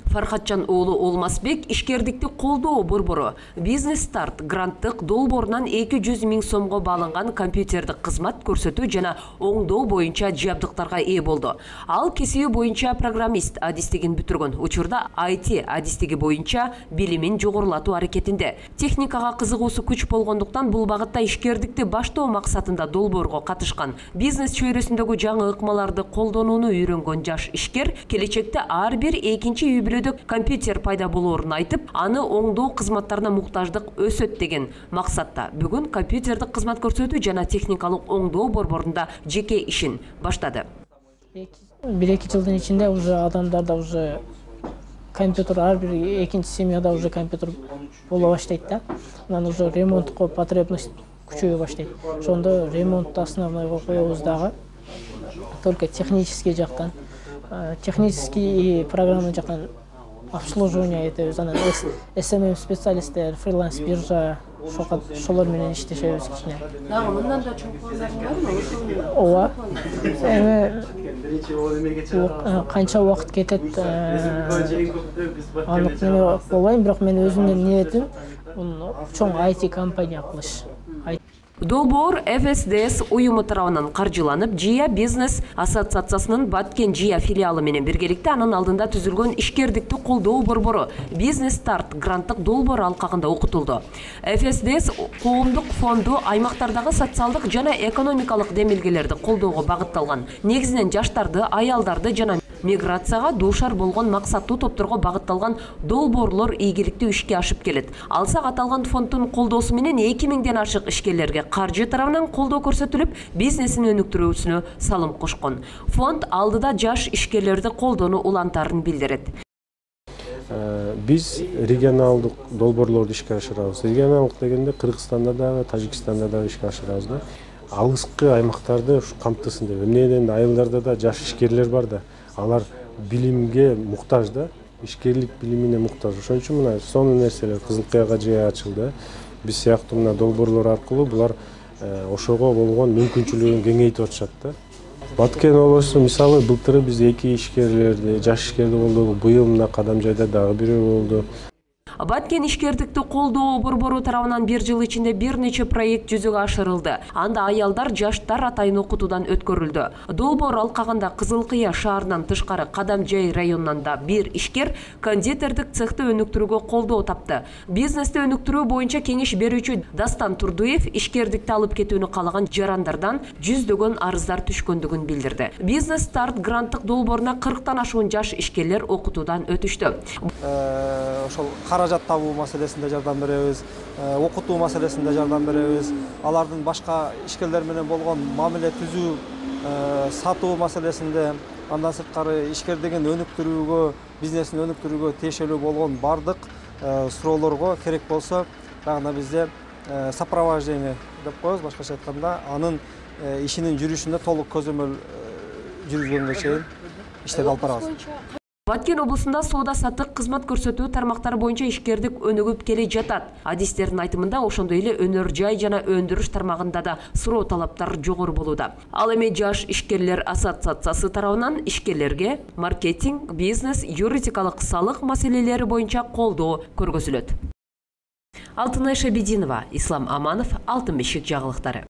Фархатжан уулу Олмасбек ишкердикти колдоо борбору Бизнес Старт гранттык долбоорунан 200 000 сомго бааланган компьютердик кызмат көрсөтүү жана оңдоо боюнча жабдыктарга ээ болду. Ал кесиби боюнча программист адистигин бүтүргөн учурда IT адистиги боюнча билимин жогорулатуу аракетинде. Техникага кызыгуусу күч болгондуктан бул багытта ишкердикти баштоо максатында долбоорго катышкан. Бизнес чөйрөсүндөгү жаңы ыкмаларды колдонууну үйрөнгөн жаш ишкер келечекте ар бир экинчи үй бүлөдө компьютер пайда болоорун айтып, аны оңдоо кызматтарына муктаждык өсөт деген максатта бүгүн компьютердик кызмат көрсөтүү жана техникалык оңдоо борборунда жеке ишин баштады. 1-2 жылдын ичинде уже адамдарда уже компьютер ар бир экинчи семьяда уже компьютер боло баштайт да. Анан уже ремонтко потребность күчөйө баштайт. Ошондо ремонтту основнойго коебуз дагы только технический жактан, технический программа жактан обслуживание этебиз. Анан SMM специалисттер, фриланс биржа ошолор менен иштешебиз кичине. Дагы мындан да чоң пландарың барбы? Ооба. Канча убакыт кетет анык неме болбойм, бирок мен өзүмдүн ниетим чоң IT компания кылыш. Долбоор FSDS уюму тарабынан каржыланып, Жия бизнес ассоциациясынын Баткен Жия филиалы менен биргеликте анын алдында түзүлгөн ишкердикти колдоо борбору Бизнес Старт гранттык долбоор алкагында окутулду. FSDS коомдук фонду аймактардагы социалдык жана экономикалык демилгелерди колдоого багытталган. Негизинен жаштарды, аялдарды жана миграцияга дуушар болгон максаттуу топторго багытталган долбоорлор ийгиликтүү ишке ашып келет. Алсак аталган фонддун колдоосу менен 2000ден ашык ишкерлерге каржы тарабынан колдоо көрсөтүлүп, бизнесин өнүктүрүүсүнө салым кошкон. Фонд алдыда жаш ишкерлерди колдоону улантарын билдирет. Биз регионалдык долбоорлорду ишке ашырабыз. Регионалдык дегенде Кыргызстанда дагы, Тажикстанда дагы ишке ашырабыз да. Алыскы аймактарды камтысын деп. Эмнеден айылдарда да жаш ишкерлер бар да. Алар билимге муктаж да, ишкерлик билимине муктаж. Ошон үчүн мына сонун нерселер Кызылкаяга жай ачылды. Биз сыяктуу мына долбоорлор аркылуу булар ошого болгон мүмкүнчүлүгүн кеңейтип атышат да. Баткен облусу мисалы былтыры биз 2 ишкерлерди, жаш ишкерди колдодук. Быйыл мына Кадамжайда дагы бирөө болду. Баткен ишкердикти колдоо борбору тарабынан 1 жыл ичинде бир нече проект жүзөгө ашырылды. Анда аялдар, жаштар атайын окутуудан өткөрүлдү. Долбоор алкагында Кызылкыя шаарынан тышкары Кадамжай районунан да бир ишкер кондитердик цехти өнүктүрүүгө колдоо тапты. Бизнести өнүктүрүү боюнча кеңеш берүүчү Дастан Турдуев ишкердикти алып кетүүнү каалаган жарандардан жүздөгөн арыздар түшкөндүгүн билдирди. Бизнес Старт гранттык долбооруна 40тан ашуун жаш ишкерлер окутуудан өтүштү. Ошол каражат табуу маселесинде жардам беребиз, окутуу маселесинде жардам беребиз. Алардын башка ишкерлер менен болгон мамиле түзүү, сатуу маселесинде, андан сырткары ишкердигин өнүктүрүүгө, бизнесин өнүктүрүүгө тиешелүү болгон бардык суроолорго керек болсо, дагы бизде сопровождение деп коебуз, башкача айтканда, анын ишинин жүрүшүндө толук көзөмөл жүргүзгөнгө чейин иштерди алып барабыз. Баткен облусунда соода-саттык кызмат көрсөтүү тармактары боюнча ишкердик өнүгүп келе жатат. Адистердин айтымында ошондой эле өнөр жай жана өндүрүш тармагында да суроо талаптар жогору болууда. Ал эми жаш ишкерлер ассоциациясы тарабынан ишкерлерге маркетинг, бизнес, юридикалык салык маселелери боюнча колдоо көргөзүлөт. Алтынай Шабидинова, Ислам Аманов, Алтын бешик жаңылыктары.